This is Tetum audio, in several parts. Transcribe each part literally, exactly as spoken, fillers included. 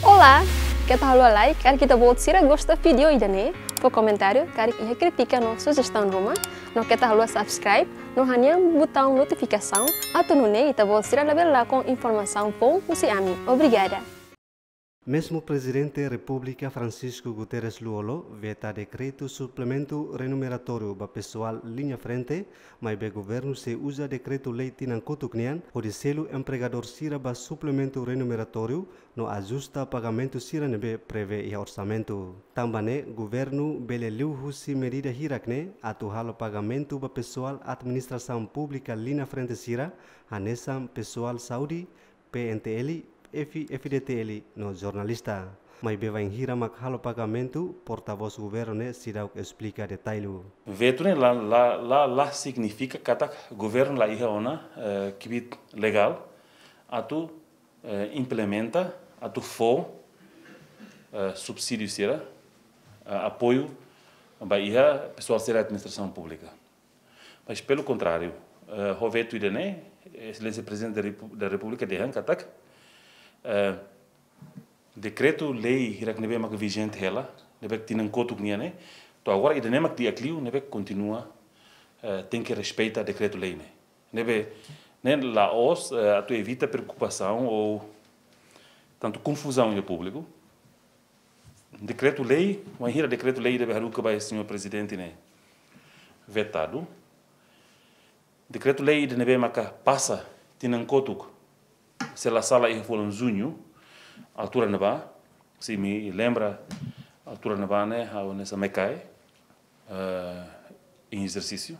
Olá, keta haluha like, karik ita-boot sira gosta vídeo ida-ne'e, fó komentáriu, karik iha krítika no sujestaun ruma, no keta haluha subscribe, no hanehan butaun notifikasaun, atu nune'e ita-boot sira labele lakon informasaun foun husi ami. Obrigada. Mezmu Prezidente Repúblika Francisco Guterres Lú-Olo veta dekretu suplementu renumeratóriu ba pesoál liña frente, maibé governu sei uza dekretu-lei tinan kotuk nian hodi selu empregadór sira ba suplementu renumeratóriu no ajusta pagamentu sira ne'ebé prevee iha orsamentu. Tanba ne'e, governu bele liu husi medida hirak-ne'e atu halo pagamentu ba pesoál administrasaun públika liña frente sira, hanesan pesoál saúde, P N T L, F-, F D T L no jornalista. Maibé bainhira mak halo pagamentu, portavós governu ne'e seidauk esplika detalle. Vetu ne'e la, la, la, la signifika katak governu la iha ona, eh, kbiit legál atu, eh, implementa, atu fó, eh, subsídiu sira, eh, apoiu ba iha pesoál sira administrasaun públika. Mas, pelo contrário, eh, ho vetu ida-ne'e, Exelénsia Prezidente da Repu-, da Repúblika dehan katak, eh, dekretu-lei hirak ne'ebé maka vijente hela, ne'ebé tinan kotuk nian ne'e, to'o agora ida-ne'e mak di'ak liu, ne'ebé kontinua, eh, tenke respeita dekretu-lei ne'e. Ne'ebé, ne'e la'ós, eh, atu evita preokupasaun ou tantu konfuzaun iha públiku. Dekretu-lei, wainhira dekretu-lei ida be haruka ba señór Prezidente ne'e vetadu. Dekretu-lei ida ne'ebé maka pasa tinan kotuk, se la sala iha fulan juñu, altura ne'ebá, se imi lembra, altura ne'ebá ne'e, ha'u hanesan MECAE, eh, em exercício,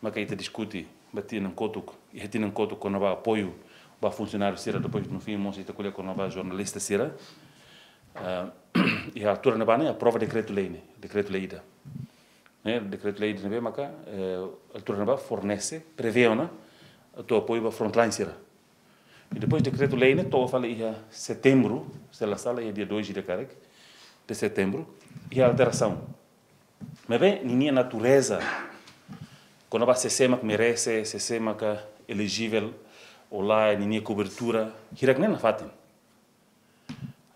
maka ita diskute ba tinan kotuk, iha tinan kotuk kona-ba apoiu ba funsionáriu sira, depois no fim mós ita ko'alia kona-ba jornalista sira. Ah, iha altura ne'ebá ne'e aprova dekretu-lei ne'e, dekretu-lei ida. Ne'e, dekretu-lei ida ne'ebé maka, eh, altura ne'ebá fornese, prevee ona atu apoiu ba frontline sira. I depois dekretu-lei ne'e to'o fali iha setembru, se la sala iha dia dois ida karik de setembru, iha alterasaun. Maibé ninia natureza, kona-ba sé-sé mak merese, sé-sé maka elejivel, ou lae, ninia kobertura, hirak ne'e nafatin.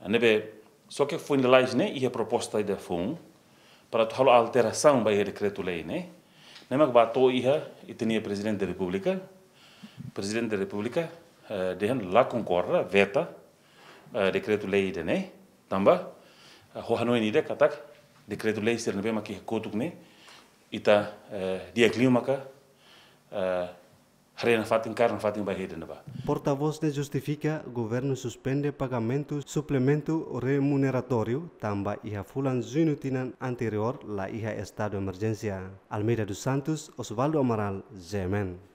Ne'ebé, só ke foin lalais ne'e, iha proposta ida foun, para atu halo alterasaun ba iha dekretu-lei ne'e, ne'e mak ba to'o iha, ita-nia Prezidente da Repúblika, Prezidente da Repúblika, eh, dehan la konkorda, veta, eh, dekretu-lei ida-ne'e, tanba, eh, ho hanoin ida katak, dekretu-lei sira ne'ebé mak iha kotuk ne'e, ita, eh, di'ak liu maka, eh, haree nafatin, kaer nafatin ba iha ida-ne'ebá. Portavós ne'e justifika governu suspende pagamentu suplementu remuneratóriu tanba iha fulan juñu tinan anteriór la iha estadu emerjénsia. Almeida dos Santos, Osvaldo Amaral, G M N.